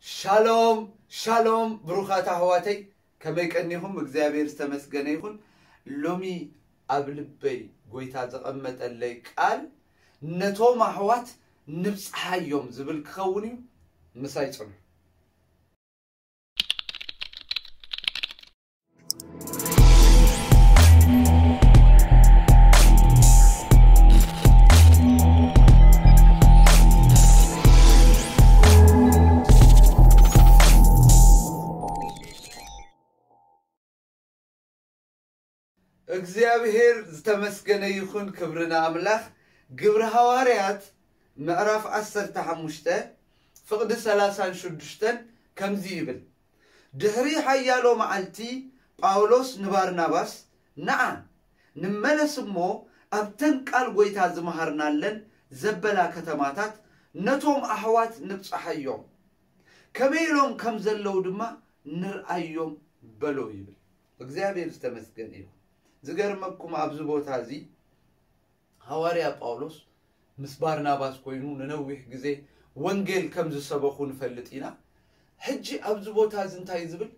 ሻሎም ሻሎም ብሩኻት ኣሕዋተይ፣ ከመይ ቀኒኹም? እግዚኣብሔር ዝተመስገነ ይኹን። ሎሚ ኣብ ልበይ ጎይታ ዘቐመጠለይ ቃል፣ ነቶም ኣሕዋት ንብጽሓዮም ዝብል ክኸውን እዩ። ምሳይ ጽኑ። እግዚኣብሔር ዝተመስገነ ይኹን፣ ክብሪ ንኣምላኽ። ግብሪ ሃዋርያት ምዕራፍ ዓሰርተ ሓሙሽተ ፍቕዲ ሰላሳን ሽዱሽተን ከምዚ ይብል። ድሕሪ ሓያሎ መዓልቲ ጳውሎስ ንባርናባስ፣ ንዓ፣ ንመለስ እሞ ኣብተን ቃል ጐይታ ዝመሃርናለን ዘበላ ከተማታት ነቶም ኣሕዋት ንብጽሓዮም፣ ከመይ ኢሎም ከም ዘለዉ ድማ ንርኣዮም በሎ ይብል። እግዚኣብሔር ዝተመስገነ ይኹን። ዝገርመኩም ኣብዚ ቦታ እዚ ሃዋርያ ጳውሎስ ምስ ባርናባስ ኮይኑ ንነዊሕ ግዜ ወንጌል ከም ዝሰበኹ ንፈልጥ ኢና። ሕጂ ኣብዚ ቦታ እዚ እንታይ ዝብል?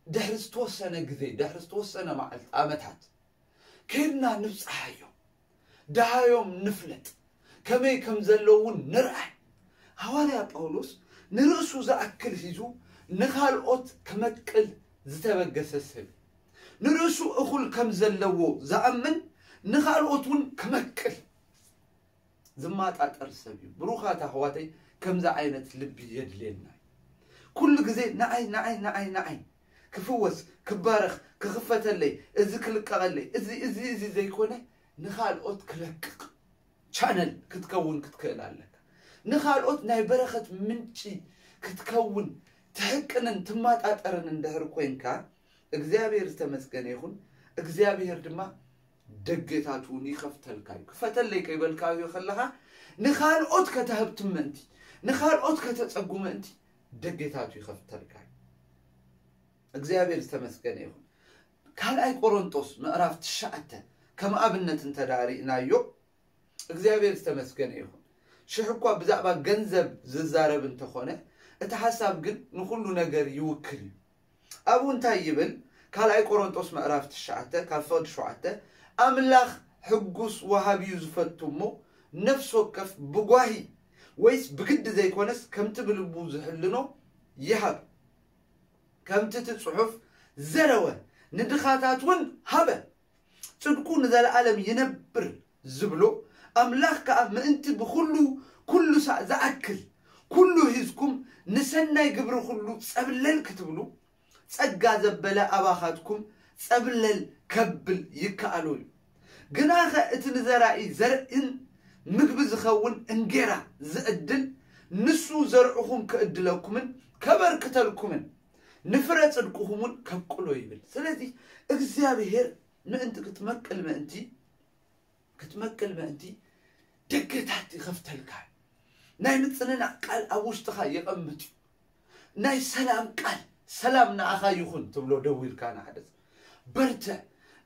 ድሕሪ ዝተወሰነ ግዜ፣ ድሕሪ ዝተወሰነ መዓልቲ፣ ዓመታት፣ ከይድና ንብጽሓዮም፣ ደሃዮም ንፍለጥ፣ ከመይ ከም ዘለዉ እውን ንርኣይ። ሃዋርያ ጳውሎስ ንርእሱ ዝኣክል ሒዙ ንኻልኦት ክመቅል ዝተበገሰ ሰብ እዩ። ንርእሱ እኹል ከም ዘለዎ ዝኣምን ንኻልኦት እውን ክመቅል ዝማጣጠር ሰብ እዩ። ብሩኻት ኣሕዋተይ፣ ከምዚ ዓይነት ልቢ የድልየና እዩ። ኩሉ ግዜ ንዓይ፣ ንዓይ፣ ንዓይ፣ ንዓይ፣ ክፍወስ፣ ክባረኽ፣ ክኽፈተለይ፣ እዚ ክልቀቐለይ፣ እዚ፣ እዚ፣ እዚ ዘይኮነ ንኻልኦት ክለቅቕ ቻነል ክትከውን ክትክእል ኣለካ። ንኻልኦት ናይ በረኸት ምንጪ ክትከውን ትሕቅንን ትማጣጠርን እንድሕር ኮይንካ፣ እግዚኣብሔር ዝተመስገነ ይኹን። እግዚኣብሔር ድማ ደገታት እውን ይኸፍተልካ እዩ። ክፈተለይ ከይበልካዮ ከለኻ፣ ንኻልኦት ከተህብትም ምእንቲ፣ ንኻልኦት ከተጸጉ ምእንቲ ደገታቱ ይኸፍተልካ እዩ። እግዚኣብሔር ዝተመስገነ ይኹን። ካልኣይ ቆሮንጦስ ምዕራፍ ትሽዓተ ከም ኣብነት እንተ ደኣ ርኢናዮ፣ እግዚኣብሔር ዝተመስገነ ይኹን። ሽሕ እኳ ብዛዕባ ገንዘብ ዝዛረብ እንተኾነ፣ እቲ ሓሳብ ግን ንኹሉ ነገር ይውክል እዩ። ኣብኡ እንታይ ይብል? ካልኣይ ቆሮንጦስ ምዕራፍ ትሽዓተ ካብ ፍቕዲ ሸውዓተ፣ ኣምላኽ ሕጉስ ወሃቢ እዩ ዝፈቱ እሞ፣ ነፍሲ ወከፍ ብጓሂ ወይስ ብግዲ ዘይኮነስ፣ ከምቲ ብልቡ ዝሕልኖ ይሃብ። ከምቲ እቲ ጽሑፍ፣ ዘረወ ንድኻታት እውን ሃበ፣ ጽድቁ ንዘለዓለም ይነብር ዝብሎ ኣምላኽ ከኣ፣ ምእንቲ ብኹሉ ኩሉ ሳዕ ዝኣክል ኩሉ ሒዝኩም ንሰናይ ግብሪ ኩሉ ጸብለል ክትብሉ፣ ጸጋ ዘበለ ኣባኻትኩም ጸብለል ከብል ይከኣሎ እዩ። ግናኸ እቲ ንዘራኢ ዘርእን ምግቢ ዝኸውን እንጌራ ዝዕድል፣ ንሱ ዘርዕኹም ክዕድለኩምን ከበርክተልኩምን ንፍረ ጽድቅኹም እውን ከብቅሎ ይብል። ስለዚ እግዚኣብሔር ምእንቲ ክትመቅል ምእንቲ፣ ክትመቅል ምእንቲ ደገታት ይኸፍተልካ። ናይ ምጽንናዕ ቃል ኣብ ውሽጥኻ የቐምጥ እዩ። ናይ ሰላም ቃል፣ "ሰላም ንኣኻ ይኹን" ትብሎ ደዊልካ ንሓደ ሰብ። "በርትዕ፣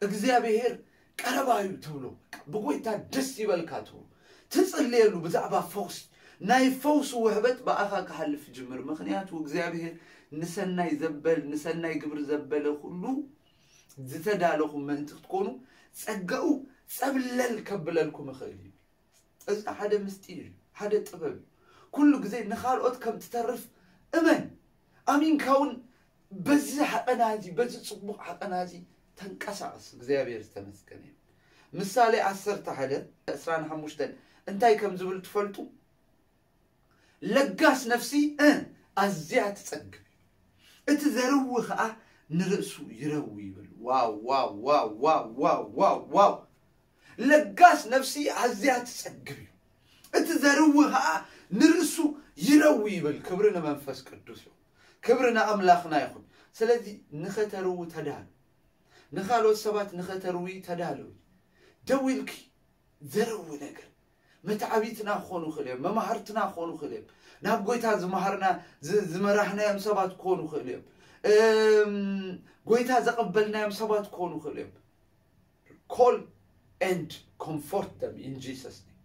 እግዚኣብሔር ቀረባ እዩ" ትብሎ። "ብጎይታ ደስ ይበልካ" ትብሎ። ትጽልየሉ ብዛዕባ ፈውሲ፣ ናይ ፈውሲ ውሕበት ብኣኻ ክሓልፍ ይጅምር። ምኽንያቱ እግዚኣብሔር ንሰናይ ዘበል፣ ንሰናይ ግብሪ ዘበለ ኩሉ ዝተዳለኹም ምእንቲ ክትኮኑ ጸጋኡ ጸብለል ከብለልኩም ይኽእል እዩ። እዚ ሓደ ምስጢር እዩ፣ ሓደ ጥበብ እዩ። ኩሉ ግዜ ንኻልኦት ከም ትተርፍ እመን። ኣሚንካ እውን በዚ ሓቐና እዚ፣ በዚ ጽቡቕ ሓቐና እዚ ተንቀሳቐስ። እግዚኣብሔር ዝተመስገነ እዩ። ምሳሌ ዓሰርተ ሓደ ዕስራን ሓሙሽተን እንታይ ከም ዝብል ትፈልጡ? "ለጋስ ነፍሲ፣ እ፣ ኣዝያ ትጸግብ እዩ፣ እቲ ዘርዊ ኸኣ ንርእሱ ይረዊ" ይብል። ዋው፣ ዋው፣ ዋው፣ ዋው፣ ዋው፣ ዋው፣ ዋው። "ለጋስ ነፍሲ ኣዝያ ትጸግብ እዩ፣ እቲ ዘርዊ ኸኣ ንርእሱ ይረዊ" ይብል። ክብሪ ንመንፈስ ቅዱስ ይኹን። ክብሪ ንኣምላኽና ይኹን። ስለዚ ንኸተርዊ ተዳሉ። ንኻልኦት ሰባት ንኸተርዊ ተዳለዊ። ደው ኢልኪ ዘርዊ ነገር። መትዓቢትና ክኾኑ ይኽእሉ እዮም፣ መማህርትና ክኾኑ ይኽእሉ እዮም፣ ናብ ጎይታ ዝመሃርና፣ ዝ-፣ ዝመራሕናዮም ሰባት ክኾኑ ይኽእሉ እዮም፣ እም፣ ጎይታ ዘቐበልናዮም ሰባት ክኾኑ ይኽእሉ እዮም። Call and comfort them in Jesus name።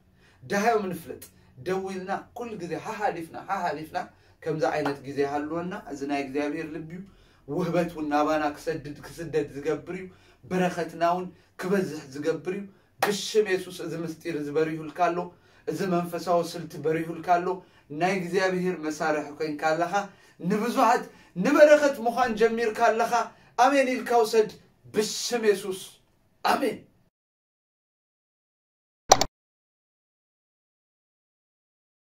ደሃዮም ንፍለጥ። ደው ኢልና ኩሉ ግዜ ሓሓሊፍና፣ ሓሓሊፍና ከምዚ ዓይነት ግዜ ሃልወና። እዚ ናይ እግዚኣብሔር ልቢ እዩ። ውህበት እውን ናባና ክሰድድ ክስደድ ዝገብር እዩ። በረኸትና እውን ክበዝሕ ዝገብር እዩ። ብሽም የሱስ እዚ ምስጢር እዚ በሪሁልካ ኣሎ። እዚ መንፈሳዊ ስልቲ በሪሁልካ ኣሎ። ናይ እግዚኣብሔር መሳርሒ ኮይንካ ኣለኻ። ንብዙሓት ንበረኸት ምዃን ጀሚርካ ኣለኻ። ኣሜን ኢልካ ውሰድ። ብሽም የሱስ ኣሜን።